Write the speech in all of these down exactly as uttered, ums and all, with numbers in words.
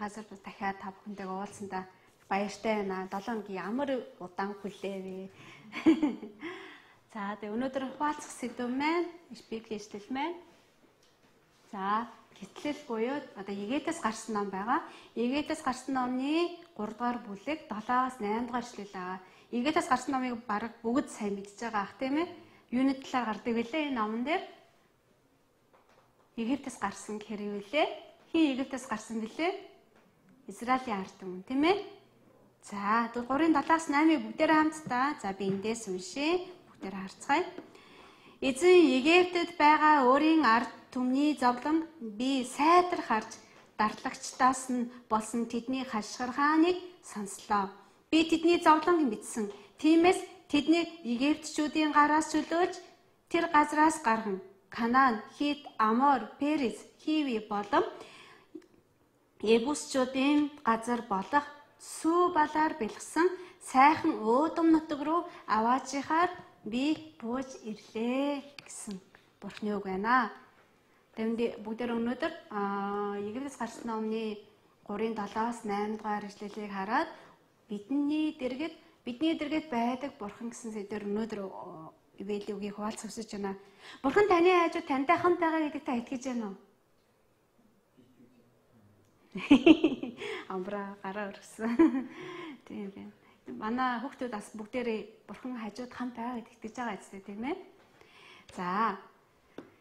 газар дахиад та бүхэнтэйгээ уулзсандаа баяртай байна. долоо хоногийн ямар удаан хүлээвэ. За тэгээ өнөөдөр хуваалцах сэдв маань Библийн ишлэл маань. За гэтлэл буюу одоо Егетээс гарсан ном байгаа. Егетээс гарсан номны гурав дахь бүлэг долоос найман дахь ишлэл байгаа. Егетээс гарсан номыг бараг бүгд сайн мэдж байгаа ах тийм ээ. Юуны талаар гардаг вүлээ энэ номон дээр? Египтээс гарсан гэхээр вүлээ. Хин Египтээс гарсан вүлээ? Израилийн ард түмэн тийм ээ. За гурвын долоос наймыг бүгдээр хамтдаа за би эндээс уншия. Бүгдээр харцгаая. Эзэн Египтэд байгаа өөрийн ард түмний зовлон би сайтар харж дарлагчдаас нь болсон тэдний хашгирхааныг сонслоо. Би тэдний зовлонг мэдсэн. Тиймээс тэднийг Египтчүүдийн гараас чөлөөж тэр газраас гарган Канаан, Хит, Амор, Периз, Хиви болон Ебусчүүдийн газар болох сүү балаар бэлгсэн сайхан өөдөм нутаг руу аваачихаар би бууж ирлээ гэсэн Бурхны үг байна. Тэгмээ бүгдээр өнөөдөр Египтээс гарсан номны гурвын долоос найман дахь ишлэлийг хараад бидний дэргэд бидний дэргэд байдаг Бурхан гэсэн сэдвээр өнөөдөр Библийн үгийг хуваалцах хүсэж байна. Бурхан таны хажууд тантай хамт байгаа гэдэгт та итгэж байна уу? Амбра гараа өргөсөн. Тийм байна. Манай хүүхдүүд бас бүгдээрээ Бурхан хажууд хамт байгаа гэдэгт итгэж байгаа зү тийм ээ. За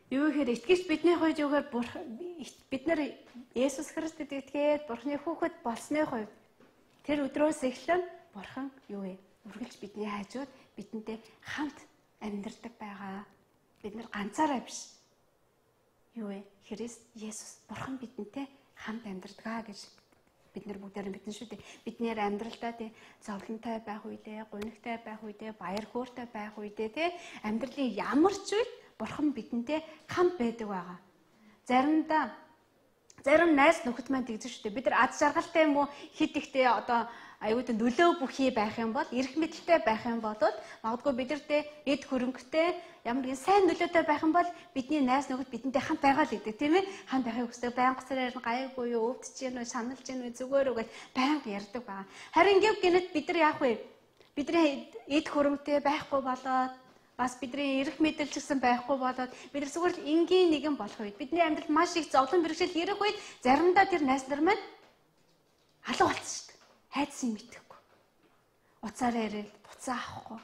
юу гэхээр итгэж бидний хувьд юугаар бид нар Есүс Христэд итгээд Бурханы хүүхэд болсны хувьд тэр өдрөөс эхлэн Бурхан юу вэ? Үргэлж бидний хажууд бидэнтэй хамт амьдардаг байгаа. Бид нар ганцаараа биш. Юу вэ? Христ Есүс Бурхан бидэнтэй хамт амьдардаг гэж бид нар бүгдээр мэднэ шүү дээ. Бидний амьдралдаа тий зовлонтой байх үедээ, гунигтай байх үедээ, баяр хөөртэй байх үедээ тий амьдралын ямар ч үед Бурхан бидэнтэй хамт байдаг байгаа. Заримдаа зарим найз нөхөд маань тэгж шүү дээ. Бид нар ад жаргалтай юм уу хит ихтэй одоо аюултай нөлөө бүхий байх юм бол эрх мэдэлтэй байх юм бол магадгүй бидэртээ эд хөрөнгөтэй ямар нэгэн сайн нөлөөтэй байх юм бол бидний найз нөхөд бидэнтэй хамт байгаа л гэдэг тийм ээ. Хамт байхыг хүсдэг, байнга цараар гайгүй юу, өвдөж гин үү, саналж гин үү, зүгээр үү гэж байнга ярьдаг байгаа. Харин гэв гинэт бид нар яах вэ? Бидний эд хөрөнгөтэй байхгүй болоод бас бидний эрх мэдэл гэсэн байхгүй болоод бид нар зүгээр л энгийн нэгэн болох үед бидний амьдралд маш их зовлон бэрхшээл ирэх үед заримдаа тэр найз нар маань алга болчихсон шүү дээ. Хайдсан мэдэхгүй. Уцаараа ярил, буцаа авахгүй.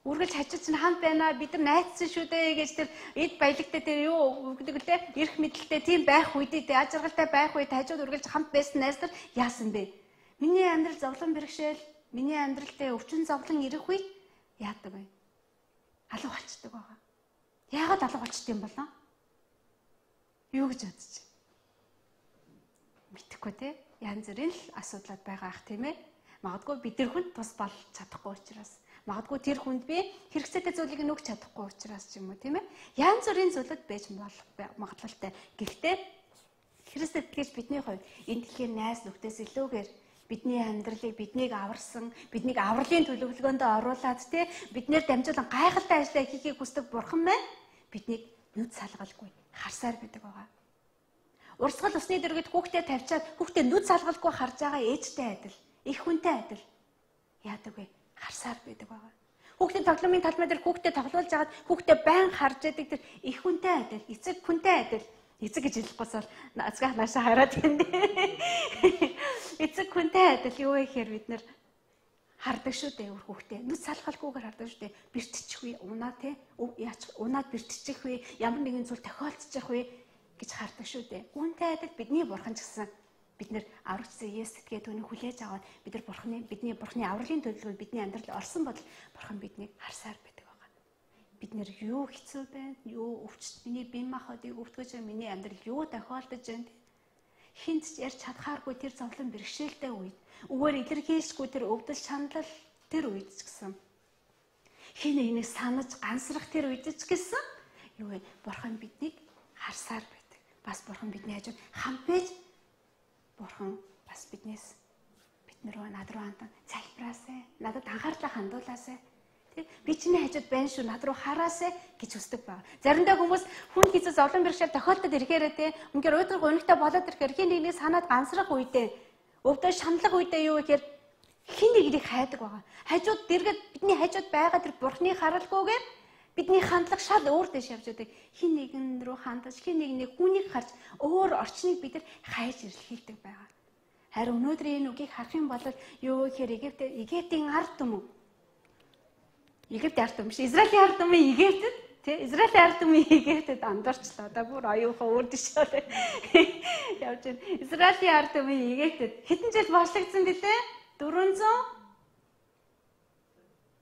Үргэлж хажууд чинь хамт байна. Бид нар найзсан шүү дээ гэж тэр эд баялагтай тэр юу гэдэг лээ. Эрх мэдэлтэй тийм байх үедээ аж аргалтай байх үед хажууд үргэлж хамт байсан найз нар яасан бэ? Миний амьдрал зовлон бэрхшээл, миний амьдралдээ өвчин зовлон ирэх үед яадаг вэ? Алга болчдөг байгаа. Яагаад алга болчдөг юм болоо? Юу гэж бодож байна? Мэдхгүй те. Янз бүрийн л асуудлууд байгаа ах тийм ээ. Магадгүй бид тэр хүнд тус болж чадахгүй учраас, магадгүй тэр хүнд би хэрэгцээтэй зүйлийг нөгч чадахгүй учраас ч юм уу тийм ээ. Янз бүрийн зүйлүүд байж болох магадлалтай. Гэхдээ Христэд итгэж бидний хувьд энэ дэлхийн найз нөхдөөс илүүгээр бидний амьдралыг биднийг аварсан, биднийг авралын төлөвлөгөөнд оруулаад тий биднээр дамжуулан гайхалтай ажлаа хийхийг хүсдэг Бурхан маань биднийг нүд салгалгүй харсаар байдаг байгаа. Урсгал усны дэргэд хүүхдээ тавьчаад хүүхдээ нүд салгалгүй харж байгаа ээжтэй адил, их хүнтэй адил яадаг вэ? Харсаар байдаг байгаа. Хүүхдийн тоглоомын талбай дээр хүүхдээ тоглуулж агаад хүүхдээ байн харж яадаг тэр их хүнтэй адил, эцэг хүнтэй адил. Эцэг гэж хэлэхгүйс бол нацгах наашаа хараад байна. Эцэг хүнтэй адил юу вэ гэхээр бид нар хардаг шүү дээ өөр хүүхдээ. Нүд салгалгүйгээр хардаг шүү дээ. Бэртчихвээ, унаа тий. Яач унаад бэртчих вэ? Ямар нэгэн зүйл тохиолдчих вэ гэж хардаг шүү дээ. Үүнтэй адил бидний Бурхан ч гэсэн бид нар аврагчсан Есүс гэдгээ түүнийг хүлээж аваад бид нар Бурханы бидний Бурханы авралын төлөвлөгөөнд бидний амьдрал орсон бол Бурхан биднийг харсаар байдаг байгаа. Бид нэр юу хэцүү байна, юу өвчт миний бие махбодыг өвтгөж байгаа миний амьдрал юу тохиолдож байна. Хинт ч ярьж чадхааргүй тэр зовлон бэрхшээлтэй үед, өгөөр илэрхийлшгүй тэр өвдөл шаналл тэр үед ч гэсэн хин энийг санаж гансрах тэр үед ч гэсэн юу вэ? Бурхан биднийг харсаар байдаг. Бас Бурхан бидний хажууд хамт байж Бурхан бас биднээс бид нар над руу хандан залбираасай. Надад анхаарлаа хандуулаасай Би чиний хажууд байна шүү, над руу хараасай гэж хүсдэг байна. Заримдаа хүмүүс хүн хийсэн зовлон бэрхшээл тохиолдолд ирэхээрээ те үнээр өөдрөг өнөгтэй болоод ирэхээр хин нэгнийг санаад ганцрах үедээ өвдөө шаналх үедээ юу гэхээр хин нэгнийг хайдаг байгаа. Хажууд дэргэд бидний хажууд байгаа тэр бурхны харалгүйгээр бидний хандлага шал өөр дэш явж байдаг. Хин нэгэн рүү хандаж, хин нэгний хүнийг харж өөр орчныг бид нар хайж ирлхийлдэг байгаа. Харин өнөөдрийн энэ үгийг харах юм бол юу гэхээр Египт Египтийн ард түмэн Египт ард түмэн биш, Израилийн ард түмэн Египтэд тий Израилийн ард түмэн Египтэд андарчлаа. Одоо бүр оюухан өөр дэшээ явж байна. Израилийн ард түмэн Египтэд хэдэн жил бослогдсон бэлээ? дөрвөнзөө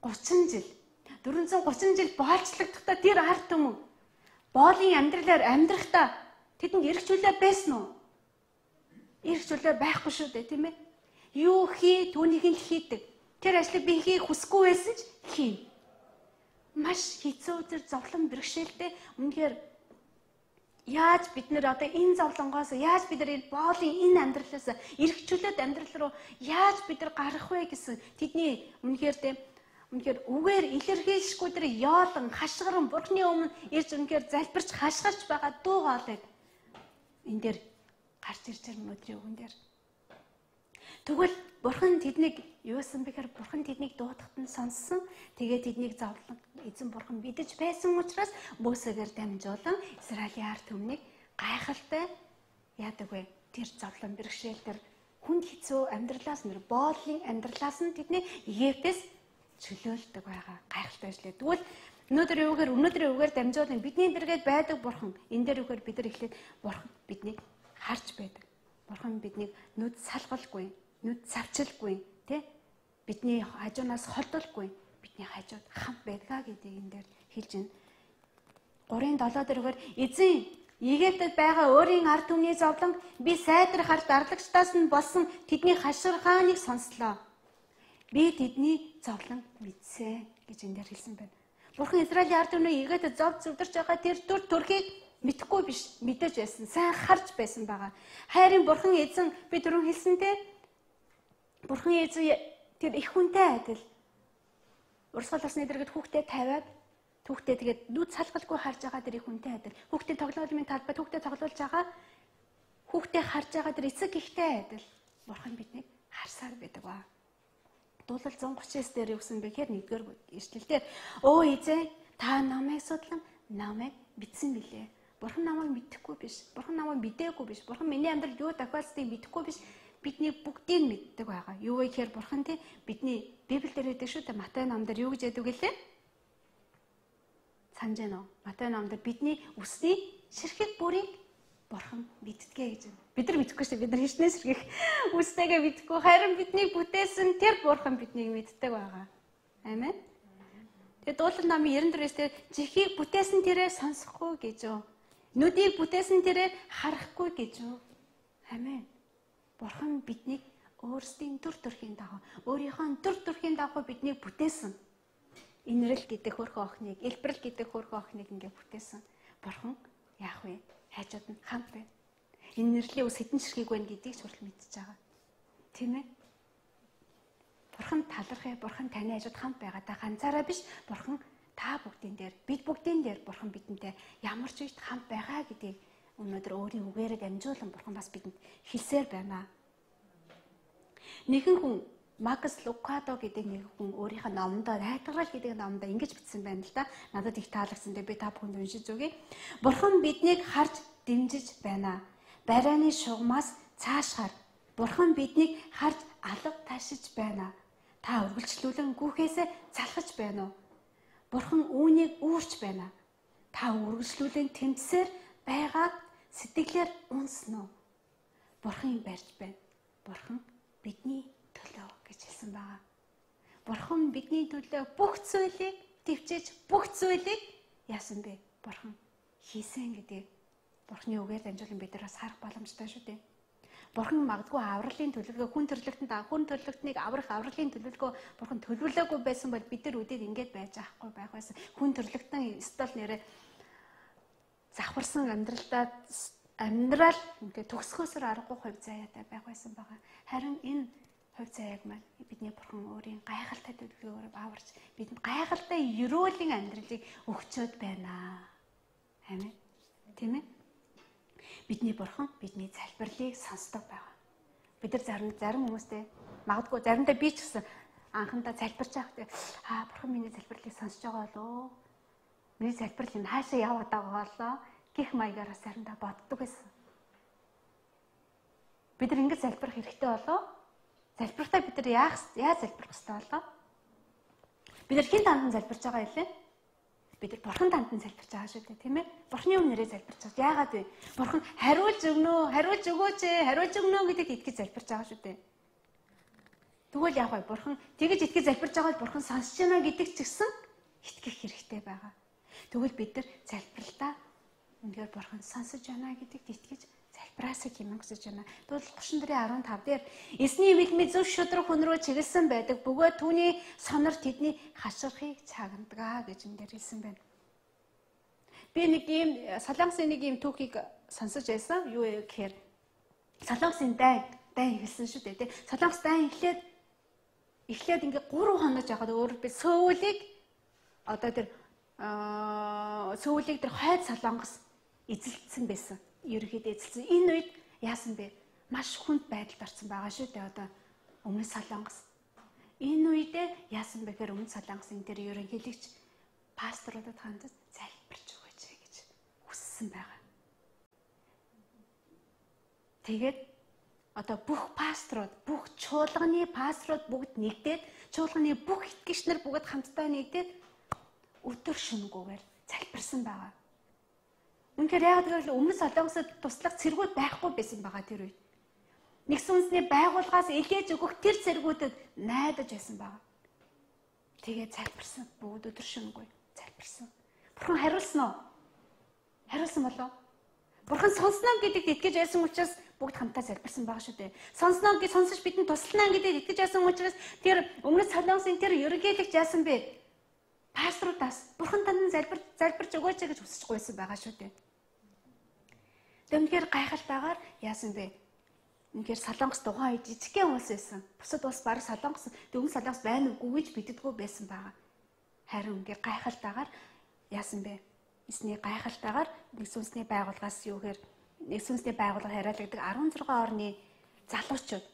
гучин жил. дөрвөнзөө гучин жил боолчлогдохдоо тэр ард түмэн боолын амьдралаар амьдрахдаа тэдэнд эрх чөлөө байсан уу? Эрх чөлөө байхгүй шүү дээ, тийм ээ. Юу хий түүнийг л хийдэг. Тэр ажлыг би хийх хүсэхгүй байсан ч хий. Маш хэцүү тэр зовлон бэрхшээлтэй үнэхээр яаж бид нэр одоо энэ зовлонгоос яаж бид нар энэ боолын энэ амьдралаас эрх чөлөөт амьдрал руу яаж бид нар гарах вэ гэсэн тэдний үнэхээр тийм үнэхээр үгээр илэрхийлшгүй тэр яолон хашгиран бурхны өмнө ирж үнэхээр залбирч хашгирч байгаа дуу хоолойг энэ дээр гарч ирж байгаа өнөөдрийн үгэн дээр. Тэгвэл бурхан тэднийг юусан бэхээр бурхан тэднийг дуудахад нь сонссон. Тэгээд тэднийг зовлон эзэн бурхан бидэж байсан учраас Мосегээр дамжуулан Израилийн ард түмнийг гайхалтай яадаг вэ? Тэр зовлон бэрхшээл тэр хүнд хэцүү амьдралаас нэр боолын амьдралаас нь тэдний Египтээс чөлөөлдөг байгаа. Гайхалтай ажлаа. Тэгвэл өнөөдөр юугаар өнөөдрийн үгээр дамжуулан бидний дэргээд байдаг бурхан энэ дээр үгээр бид нар эхлээд бурхан биднийг харж байдаг. Бурхан биднийг нүд салгалгүй, нүд савчилгүй, тий? Бидний хажуунаас холдолгүй, бидний хажууд хамт байдгаа гэдгийг энэ дээр хэлж байна. гурын долоо дээргээр эзэн Египтэд байгаа өөрийн ард түмний зовлон би сайдрахаар дарлагчдаас нь болсон тэдний хаширхааныг сонслоо. Би тэдний зовлон мэдсэ гэж энэ дээр хэлсэн байна. Бурхан Израилийн ард түмний Египтэд зов зүвдэрч байгаа тэр төр төрхийг мэдхгүй биш, мэдэж байсан, сайн харж байсан байгаа. Хайрын бурхан эзэн би түрүүн хэлсэнтэй бурхан эзэн тэр их хүнтэй адил. Урсгал усны дэргэд хүүхдээ тавиад хүүхдээ тэгээд нүд салгалгүй харж байгаа тэр их хүнтэй адил. Хүүхдээ тоглоомын талбайд хүүхдээ тоглуулж байгаа хүүхдээ харж байгаа тэр эцэг ихтэй адил. Бурхан биднийг харсаар байдаг ба. Дуулал зун гучин дээр юу гэсэн бэ гэхээр нэгдүгээр ишлэлдэр өө эзэн та намайг судлан намайг мэдсэн билээ. Бурхан намайг мэдэхгүй биш. Бурхан намайг мэдээгүй биш. Бурхан миний амьдралд юу тохиолдсыг мэдэхгүй биш. Бидний бүгдийг мэддэг байгаа. Юу вэ гэхээр бурхан тий бидний Библиэлд хэлдэг шүү дээ. Матай номдэр юу гэж яддаг гэлээ? Санаж байна уу? Матай номдэр бидний үсний ширхэг бүрийг бурхан мэддэг гэж байна. Бид нар мэдэхгүй шүү дээ. Бид нар хичнээн ширхэг үснийгээ мэдхгүй. Харин бидний бүтээсэн тэр бурхан биднийг мэддэг байгаа. Амен. Тэгээд дуулал намын ерөн дөрөвс дээр жихийг бүтээсэн тэрээр сонсохгүй гэж юу? Нүдийг бүтээсэн тэрээр харахгүй гэж юу? Амен. Бурхан биднийг өөрсдийн төр төрхийн дагуу, өөрийнхөө төр төрхийн дагуу биднийг бүтээсэн. Инрэл гэдэг хөрхөн охиныг, элбэрэл гэдэг хөрхөн охиныг ингээ бүтээсэн. Бурхан яах вэ? Хайжууд нь хамт байна. Энэ нэрлийн ус хэдэн ширхэг байна гэдгийг ч хүртэл мэдчихэж байгаа. Тийм ээ? Бурхан талархаа, бурхан таны хажууд хамт байгаа. Та ганцаараа биш, бурхан та бүгдийн дээр, бид бүгдийн дээр бурхан бидэнтэй ямар ч үед хамт байгаа гэдгийг өнөөдөр өөрийн үгээрээ дамжуулан бурхан бас бидэнд хэлсээр байна. Нэгэн хүн Макс Лукадо гэдэг нэг хүн өөрийнхөө номдоо Найтгарал гэдэг номдоо ингэж бичсэн байна л да. Надад их таалагдсан. Тэгээ би та бүхэнд уншиж өгье. Бурхан биднийг харж дэмжиж байна. Барайны шугамаас цаашгаар бурхан биднийг харж алга ташиж байна. Та үргэлжлүүлэн гүхээсээ залхаж байна уу? Бурхан үүнийг үүрч байна. Та үргэлжлүүлэн тэмцсээр байгааг сэтгэлээр унсноо. Бурхан барьж байна. Бурхан бидний төлөө гэж хэлсэн байгаа. Бурхан бидний төлөө бүх зүйлийг төвчж бүх зүйлийг яасан бэ? Бурхан хийсэн гэдэг Бурханы үгээр дамжуулан бид нар бас харах боломжтой шүү дээ. Бурхан магадгүй авралын төлөвлөгөө хүн төрлөختөнд хүн төрлөختнийг аврах авралын төлөвлөгөө Бурхан төлөвлөөгүй байсан бол бид нар үдээд ингэж байж ахгүй байх байсан. Хүн төрлөختөн стол нэрээ завхарсан амьдралдаа амьдрал ингээд төгсгөөсөр аргагүй хувь заяатай байх байсан байгаа. Харин энэ хувь заяаг маань бидний бурхан өөрийн гайхалтай төлөвлөгөөр аварч бидэнд гайхалтай ерөөлийн амьдралыг өгчөөд байна. Амин. Тийм ээ. Бидний бурхан бидний залбирлыг сонсдог байгаа. Бид нар зарим зарим хүмүүстэй магадгүй заримдаа би ч гэсэн анхандаа залбирч байхдаа аа бурхан миний залбирлыг сонсож байгаа болоо. Миний залбирал нь хаашаа яваад байгаа болоо гэх маягаар заримдаа боддог байсан. Бид нар ингэж залбирах хэрэгтэй болоо. Залбиртаа бид нар яах яаж залбирах ёстой болоо? Бид нар хин танд залбирч байгаа юм лээ. Бид нар бурхан танд залбирч байгаа шүү дээ, тийм ээ? Бурханы өмнөрөө залбирч байгаа. Яагаад вэ? Бурхан хариулж өгнө үү? Хариулж өгөөч ээ. Хариулж өгнө үү гэдэгт итгэж залбирч байгаа шүү дээ. Тэгвэл яах вэ? Бурхан тэгэж итгэж залбирч байгаа бол бурхан сонсч байна гэдэг ч гэсэн итгэх хэрэгтэй байгаа. Тэгвэл бид нар залбиралтаа үнээр бурхан сонсож байна гэдэгт итгэж залбираасаа хэмээн хүсэж байна. Тэгвэл гушин дөрийн арван тав дээр эсний вилми зөв шудраг хүн рүү чиглэсэн байдаг. Бөгөөд түүний сонор тэдний хаширхыг цагнадаг гэж энэ хэлсэн байна. Би нэг ийм солонгосын нэг ийм түүхийг сонсож байсан. Юу вэ гэхээр солонгосын дайн дайн хэлсэн шүү дээ, тий. Солонгос дайн эхлээд эхлээд ингээ гурав хонож яхад өөр би сөүлийг одоо тэр сөүлийг тэр хойд солонгос эзэлсэн байсан. Ерөөхдөө эзэлсэн. Энэ үед яасан бэ? Маш хүнд байдалд орсон байгаа шүү дээ. Одоо өмнө солонгос. Энэ үедээ яасан бэ гэхээр өмнө солонгосын тэр ерөнхийлөгч пасторудад хандаж залбирч өгөөч гэж хүссэн байгаа. Тэгээд одоо бүх пасторууд, бүх чуулганы пасторууд бүгд нэгдээд, чуулганы бүх итгэгч нар бүгд хамтдаа нэгдээд өдөр шөнөггүйгээр залбирсан байгаа. Үнэхээр яг л өмнө солонгосод туслах цэргүүд байхгүй байсан байгаа тэр үед. Нэгсэн үндэсний байгууллагаас илгээж өгөх тэр цэргүүдэд найдаж байсан байгаа. Тэгээд залбирсан. Бүгд өдөр шөнөгүй залбирсан. Бурхан хариулсан уу? Хариулсан болов? Бурхан сонсноо гэдэгт итгэж байсан учраас бүгд хамтдаа залбирсан байгаа шүү дээ. Сонсноо гэж сонсож бидэнд туслана гэдэгт итгэж байсан учраас тэр өмнө солонгосын тэр ерөнхийлөгч яасан бэ? Пасторудаас бурхан танд залбир залбирч өгөөч гэж хүсэж гуйсан байгаа шүү дээ. Тэгмээр гайхалтайгаар яасан бэ? Үнэхээр солонгос тухайн үед жижигхэн улс байсан. Бусад улс баг солонгос дөнгөн солонгос байна уугүй гэж биддэггүй байсан байгаа. Харин үнэхээр гайхалтайгаар яасан бэ? Эсний гайхалтайгаар нэгэн үндэсний байгууллагаас юугээр нэгэн үндэсний байгууллага хариалагддаг арван зургаан орны залуучууд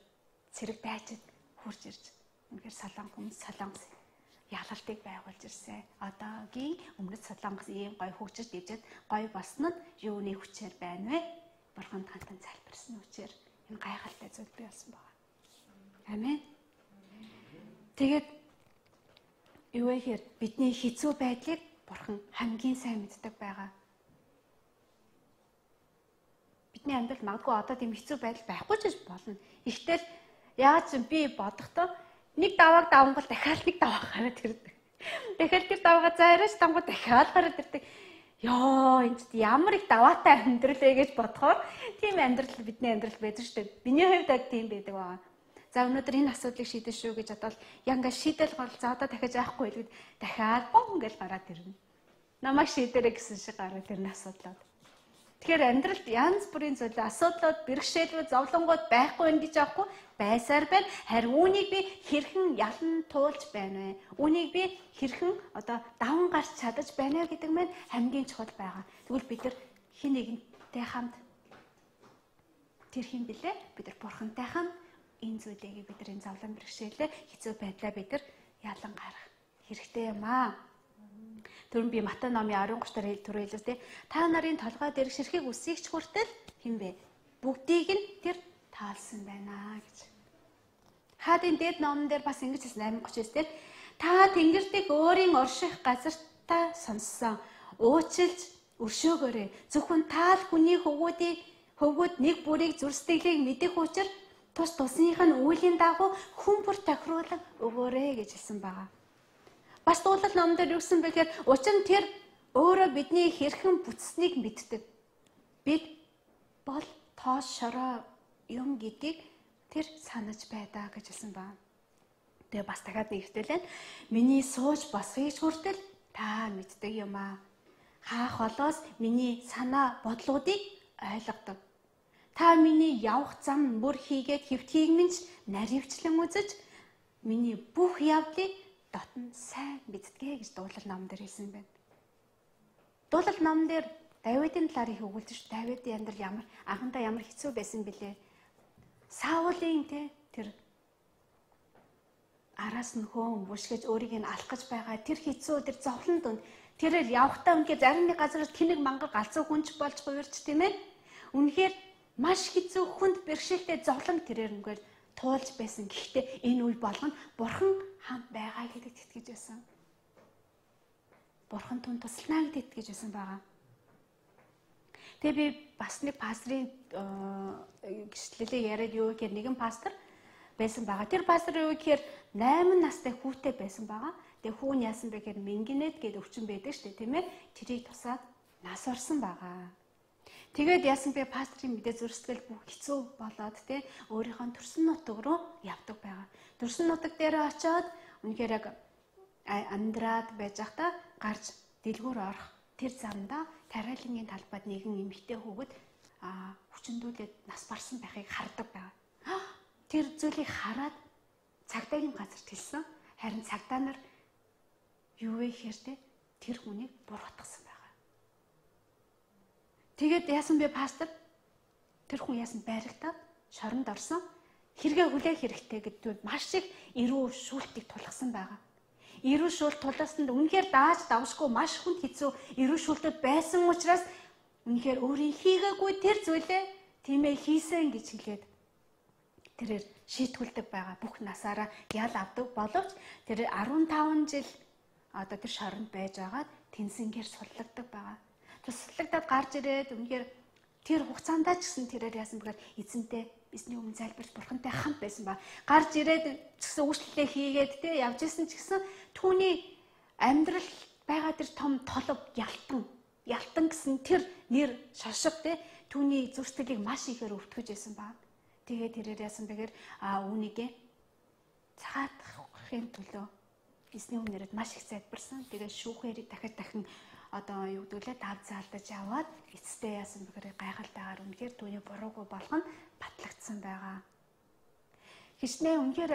цэрэг дайчид хурж ирж үнэхээр солонгос хүмүүс солонгос ялалтыг байгуулж ирсэн. Одоогийн өмнөд солонгос ийм гой хөгжиж дижээд гой болснод юуны хүчээр байна вэ? Бурхан тантан залбирсан хүчээр энэ гайхалтай зүйл бий болсон байна. Амен. Тэгээд юу вэ гэхээр бидний хэцүү байдлыг бурхан хамгийн сайн мэддэг байгаа. Бидний амьдрал магадгүй одоо тийм хэцүү байдал байхгүй ч гэж болно. Ихтэл яаж ч би бодохдоо нэг давааг давангуул дахиад нэг даваа гараад ирдэг. Дахиад тэр даваагаа зайраач давангуул дахиад гараад ирдэг. Йоо энэ ч ямар их даваатай амьдрал ээ гэж бодохоор тийм амьдрал бидний амьдрал байдаг шүү дээ. Миний хувьд яг тийм байдаг байгаа. За өнөөдөр энэ асуудлыг шийдэн шүү гэж бодвол яг ингээ шийдэл гол за одоо дахиад яахгүй л гэд дахиад бон гэж гараад ирнэ. Намайг шийдэрэй гэсэн шиг гараад ирнэ асуудлууд. Тэгэхээр амьдралд янз бүрийн зүйл асуудлууд, бэрхшээлүүд, зовлонгууд байхгүй юм гэж аахгүй байсаар байна. Харин үүнийг би хэрхэн ялан туулж байна вэ? Үүнийг би хэрхэн одоо даван гарч чадаж байна гэдэг маань хамгийн чухал байгаа. Тэгвэл бид нар хин нэгэнтэй хамт тэр хин блэ? Бид нар бурхантай хамт энэ зүйлийг бид нар энэ зовлон бэрхшээлээ хэцүү байдлаа бид нар ялан гарах хэрэгтэй юм аа. Түрэн би Матай номын аравын гурав дахь төрөө хэлсэн тий. Та нарын толгой дээр ширхэг үсгийгч хүртэл хинбэ? Бүгдийг нь тэр таалсан байна гэж. Хаадын дээд номон дээр бас ингэж хэлсэн амин гуч дээр та тэнгэртийг өөрийн орших газартаа сонссон. Уучлж өршөөгөөрэй. Зөвхөн таал хүний хөвгүүдийг хөвгүүд нэг бүрийг зүрстэглийг мэдэх учраас тус тусных нь үүлийн дагуу хүн бүр тохируулан өгөөрэй гэж хэлсэн байгаа. Бас дуулал номон дээр юу гэсэн бэ гэхээр учир нь тэр өөрөө бидний хэрхэн бүтснийг мэддэг. Бид бол тоос шороо юм гэдгийг тэр санаж байдаа гэж хэлсэн байна. Тэгээ бас дахиад нэг ихтэй л миний сууж босхийг хүртэл та мэддэг юм аа. Хаах холоос миний санаа бодлуудыг ойлгодог. Та миний явах зам бүр хийгээд хэвтхийг минь наривчлан үзэж миний бүх явдлыг дотн сайн мэддэг гэж дуулал номон дээр хэлсэн байна. Дуулал номон дээр Давидын талаар их өгүүлж, Давидын амьдрал ямар анхандаа ямар хэцүү байсан бilé. Саулын те тэр араас нь хөөн бүшгэж өөрийг нь алах гэж байгаа тэр хэцүү тэр зовлон донд тэрээр явхтаа үнэхээр зарим нэг газар тэнэг мангар галзуу хүнч болж хувирч тийм ээ. Үнэхээр маш хэцүү хүнд бэрхшээлтэй зовлон тэрээр үнэхээр туулж байсан. Гэхдээ энэ үе болгоно Бурхан хамт байгаа гэдэгт итгэж байсан. Бурхан түн туслана гэдэгт итгэж байсан байгаа. Тэгээ би бас нэг пастрын гэрчлэлээ яриад юу гэхээр нэгэн пастор байсан байгаа. Тэр пастор юу гэхээр найман настай хүүтэй байсан байгаа. Тэгээ хүү нь яасан бэ гэхээр Мингинет гэдэг өвчин байдаг шүү дээ, тийм ээ. Тэрийг тусаад нас орсон байгаа. Тэгээд яасан бэ пастрын мэдээ зурсгал бүх хэцүү болоод тий өөрийнхөө төрсөн нутаг руу явдаг байгаа. Төрсөн нутаг дээр очиод үнэхээр яг амьдраад байж байхдаа гарч дэлгүүр орох тэр замдаа тариалангийн талбайд нэгэн эмэгтэй хүүхэд хүчндүүлээд нас барсан байхыг хардаг байгаа. Тэр зүйлийг хараад цагдаагийн газарт хэлсэн. Харин цагдаа нар юу вэ гэхээр те тэр хүнийг бургатгсан байгаа. Тэгээд яасан бэ пастор? Тэр хүн яасан байрагтаад шоронд орсон. Хэрэгэ хүлээх хэрэгтэй гэдэгт маш их эрүү шүүлтийг тулгасан байгаа. Эрүү шүүлт тулгасанд үнэхээр дааж давшгүй маш хүнд хэцүү эрүү шүүлтүүд байсан учраас үнэхээр өөрийн хийгээгүй тэр зүйлээ тийм ээ хийсэн гэж хэлээд тэрээр шийтгүүлдэг байгаа. Бүх насаараа ял авдаг боловч тэр арван таван жил одоо тэр шоронд байж байгаад тэнсэнгээр суллагддаг байгаа. Туслагдаад гарч ирээд үнэхээр тэр хугацаанд ч гэсэн тэрээр яасан бэхээр эзэнтэй эзний өмнө залбирч бурхантай хамт байсан ба гарч ирээд ч гэсэн үйлчлэлээ хийгээд тэ явж исэн ч гэсэн түүний амьдрал байгаа тэр том толов ялтан ялтан гэсэн тэр нэр шошго тэ түүний зүрсгэлийг маш ихээр өвтгөж байсан ба тэгээд тэрээр яасан бэхээр а үүнийгээ цагаатгахын төлөө эзний өмнөд маш их залбирсан. Тэгээд шүүхээр дахиад дахин одоо юу гэдүүлээ дав заалдаж аваад эцэстээ яасан бэхээр гайхалтайгаар үнэхээр түүний буруугүй болгоно батлагдсан байгаа. Хичнээн үнэхээр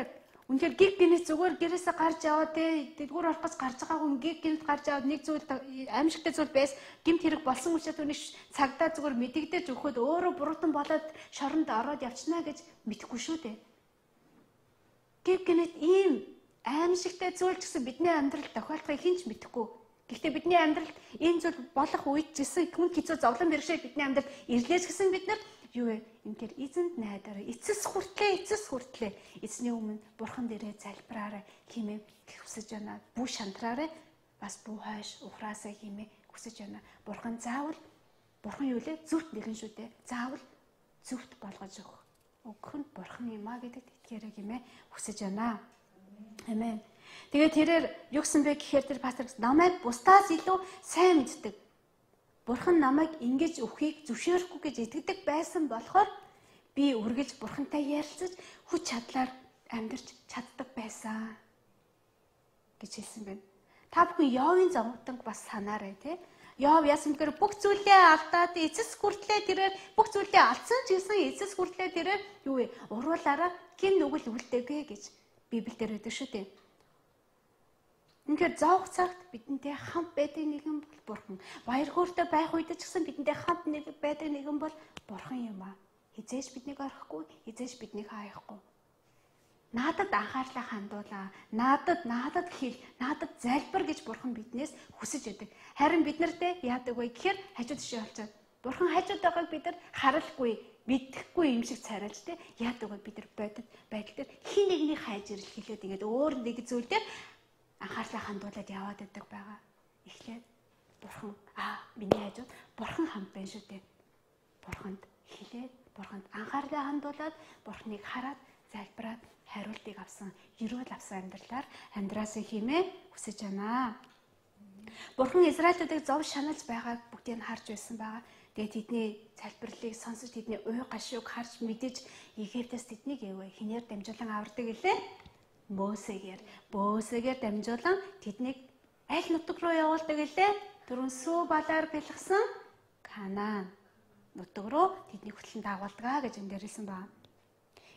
үнэхээр гиг гинэс зүгээр гэрээсээ гарч яваад те дэлгүүр орох гэж гарч байгаа хүн гиг гинэс гарч аваад нэг зүйл аимшигтай зүйл байс гимт хэрэг болсон учраас түүний цагдаа зүгээр мэдэгдэж өгөхөд өөрөө буруутан болоод шоронд ороод явчихна гэж мэдэхгүй шүү дээ. Гиг гинэс ийм аимшигтай зүйл ч гэсэн бидний амьдралд тохиолдохыг хэн ч мэдэхгүй. Гэхдээ бидний амьдралд энэ зүйл болох үед ч гэсэн хүн хэцүү зовлон бэрхшээл бидний амьдралд ирлээс гэсэн бид нар юу вэ? Ингээд эзэнд найдаараа эцэс хүртлээ эцэс хүртлээ эзний өмнө бурхан дээрээ залбираарай хэмээн хүсэж байна. Бүү шантраарай бас бүү хойш ухраасаа хэмээн хүсэж байна. Бурхан заавал бурхан юу лээ? Зөвхт нэгэн шүү дээ. Заавал зөвхт болгож өгөх. Өгөх нь бурхан юм а гэдэгт итгээрэй хэмээн хүсэж байна. Амен. Тэгээд тэрээр юу гэсэн бэ гэхээр тэр пастор намайг бусдаас илүү сайн мэддэг. Бурхан намайг ингэж өхийг зөвшөөрөхгүй гэж итгэдэг байсан болохоор би үргэлж бурхантай ярилцаж хүч чадлаар амьдарч чаддаг байсан гэж хэлсэн байна. Та бүхэн Йовын зовлонг бас санаарай тий. Йов яасан гэхээр бүх зүйлээ алдаад эцэс хүртлээ тэрээр бүх зүйлээ алдсан ч гэсэн эцэс хүртлээ тэрээр юу вэ? Уруулаараа гин нүгэл үлдээгээ гэж Библиэлд байдаг шүү дээ. Ингээд зовх цагт бидэнтэй хамт байдаг нэгэн бол бурхан. Баяр хөөртэй байх үед ч гэсэн бидэнтэй хамт нэг байдаг нэгэн бол бурхан юм аа. Хизээж биднийг орхихгүй, хизээж биднийг хааяхгүй. Наадад анхаарлаа хандуулаа. Наадад наадад хэл, наадад залбир гэж бурхан биднээс хүсэж байдаг. Харин бид нартэй яадаг вэ гэхээр хажууд тишээ олцоод бурхан хажууд байгааг бид нар харалгүй, мэдэхгүй юм шиг царайлж тэ яадаг вэ бид нар бодит байдал дээр хин нэгний хайж ирэл хэлээд ингээд өөр нэг зүйл дээр анхаарлаа хандуулаад яваад байдаг байгаа. Эхлээд бурхан аа миний хажууд бурхан хамт байна шүү дээ. Бурханд хэлээд бурханд анхаарлаа хандуулаад бурханыг хараад залбираад хариултыг авсан, ерөөл авсан амьдралаар амьдраасаа хэмээн хүсэж байна. Бурхан Израильтуудыг зов шаналж байгааг бүгдийг нь харж байсан байгаа. Тэгээд тэдний залбирлыг сонсож тэдний уй гашууг харж мэдэж Египтээс тэднийг яваа хинээр дамжуулан авардаг гэлээ. Мосегээр, Бөөсөгээр дамжуулан тэднийг аль нутаг руу явуулдаг гэлээ? Дөрвөн сүү балаар бэлгсэн Канаан нутаг руу тэдний хөтлөн дагуулдаг гэж энэ дээр хэлсэн байна.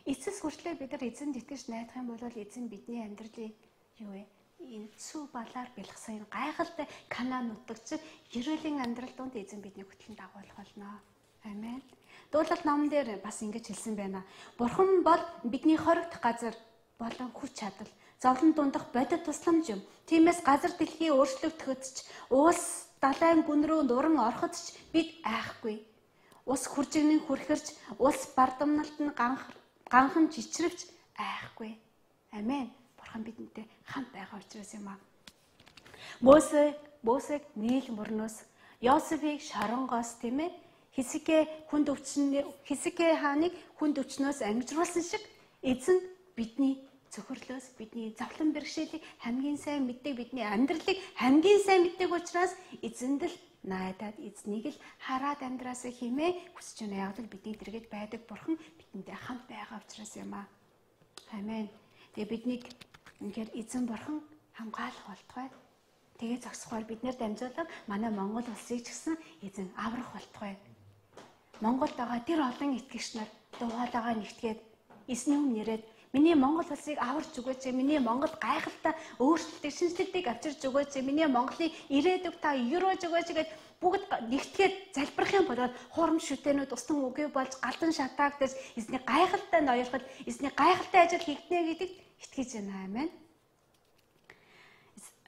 Эцэс хүртлээр бид нар эзэнд итгэж найдах юм бол эзэн бидний амьдралыг юу вэ? Энэ цүү балаар бэлгсэн энэ гайхалтай Канаан нутаг шиг ерөөлийн амьдрал донд эзэн бидний хөтлөн дагуулах болно. Амен. Дуулал номон дээр бас ингэж хэлсэн байна. Бурхан бол бидний хоригдох газар болон хүч чадал, зовлон дундах бодит тусламж юм. Тиймээс газар дэлхий өөрчлөгдөхөдч, уус далайн гүн рүү нуран ороходч бид айхгүй. Ус хүржигнэн хүрхэрч, ус бардамналт нь ганхан чичрэвч айхгүй. Амен. Бурхан бидэнтэй хамт байгаа учраас юм аа. Мосе, Мосег Нийл мөрнөөс, Йосефийг шоронгоос тийм ээ Хизкэ хүнд өвчин Хизкэ хааныг хүнд өвчнөөс ангижруулсан шиг эзэн бидний цөхрлөөс бидний завлан бэрхшээлийг хамгийн сайн мэддэг, бидний амьдралыг хамгийн сайн мэддэг учраас эзэнд л найдаад эзнийг л хараад амьдраасаа хэмээн хүсэж байна. Яг л бидний дэргэд байдаг Бурхан бидэнтэй хамт байгаа учраас юм аа. Амен. Тэгээ биднийг үнэхээр эзэн Бурхан хамгаалах болтугай. Тэгээ зогсохоор бид нэр дамжуулан манай Монгол улсыг ч гэсэн эзэн аврах болтугай. Монголд байгаа тэр олон итгэгч нар дуугаалаагаа нэгтгээд эзний өмнө ирээд миний Монгол улсыг аварч өгөөч, миний Монгол гайхалтай өөрчлөлтийг, шинжлэлтийг авчирч өгөөч, миний Монголын ирээдүг та юрөөж өгөөч гэж бүгд нэгтгээд залбирах юм бол хурам шүтэнүүд устан үгүй болж галдан шатаагдаж эзний гайхалтай ноёрхол, эзний гайхалтай ажил хийгднэ гэдэгт итгэж байна. Амен.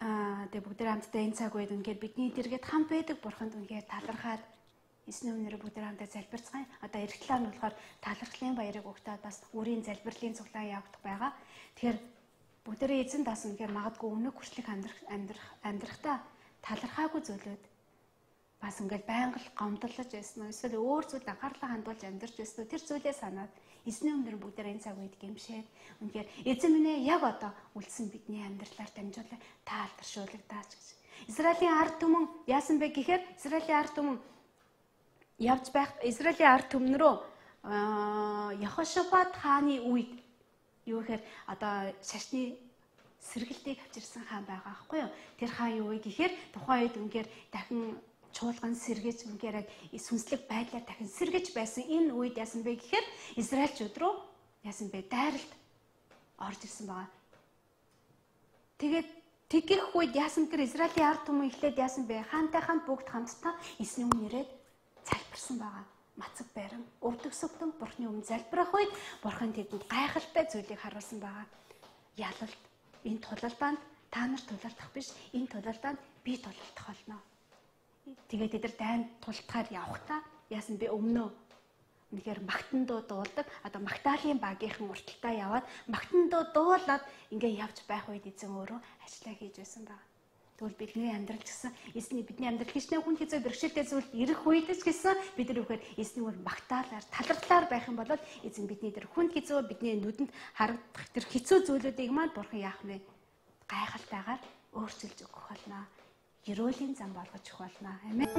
Аа тэгээ бүгд хамтдаа энэ цаг үед үнэхээр бидний дэргэд хамт байдаг Бурханд үнэхээр талархаад эзний өмнөр бүгд хамтдаа залбирцгаая. Одоо эх талаар нь болохоор талархлын баярыг өгтөөд бас үрийн залбирлын цуглаан явагдах байгаа. Тэгэхээр бүгдээрээ эзэн дасан үнэхээр магадгүй өнөг хүрчлэх амьдрах амьдрах амьдрахтаа талархаагүй зүйлүүд бас ингээд байнга гомдлож байсан уу? Эсвэл өөр зүйлд анхаарлаа хандуулж амьдарч байсан уу? Тэр зүйлээ санаад эзний өмнөр бүгдээрээ энэ цаг үед гэмшээд үнэхээр эзэн минь яг одоо үлдсэн бидний амьдралаар дамжуулан та алдаршуулгадаач гэж. Израилийн ард түмэн яасан бэ гэхээр Израилийн ард түмэн явж байх Израилийн ард түмэн рүү Йехошафат хааны үед юу гэхээр одоо шашны сэргэлтийг авчирсан хаан байгаа аахгүй юу? Тэр хаан юу вэ гэхээр тухайн үед үнэхээр дахин чуулган сэргэж үнэхээр сүнслэг байдлаар дахин сэргэж байсан энэ үед яасан бэ гэхээр Израильчууд руу яасан бэ? Дайралт орж ирсэн байгаа. Тэгээд тэгэх үед яасан гэхээр Израилийн ард түмэн эхлээд яасан бэ? Хаантай хамт бүгд хамтдаа эзний өмнө ирээд залбирсан байгаа. Мацаг байран өвдөгсөгдөн Бурхны өмнө залбирах үед Бурхан тэдэнд гайхалтай зүйлийг харуулсан байгаа. Ялалт энэ тулалдаанд та нар тулалдах биш, энэ тулалдаанд би тулалдах болно. Тэгээд тэд нар дайнд тултахаар явхдаа яасан бэ? Өмнөө үнэхээр магтандуу дуулдаг. Одоо Магдалины багийнхан урталтаа яваад магтандуу дуулаад ингээ явж байх үед эзэн өөрөө ажиллаа хийж байсан байна. Тэгвэл бидний амьдрал гэсэн эзний бидний амьдрал хичнээн хүн хэзээ бэрхшээлтэй зүйлд ирэх үед ч гэсэн бид нар үхээр эзний үр магтаалаар талархлаар байх юм бол эзэн бидний тэр хүн хэзээ бидний нүдэнд харагдах тэр хэцүү зүйлүүдийг маань Бурхан яах вэ? Гайхалтайгаар өөрчилж өгөх болно. Ерөөлийн зам болгож өгөх болно. Амен.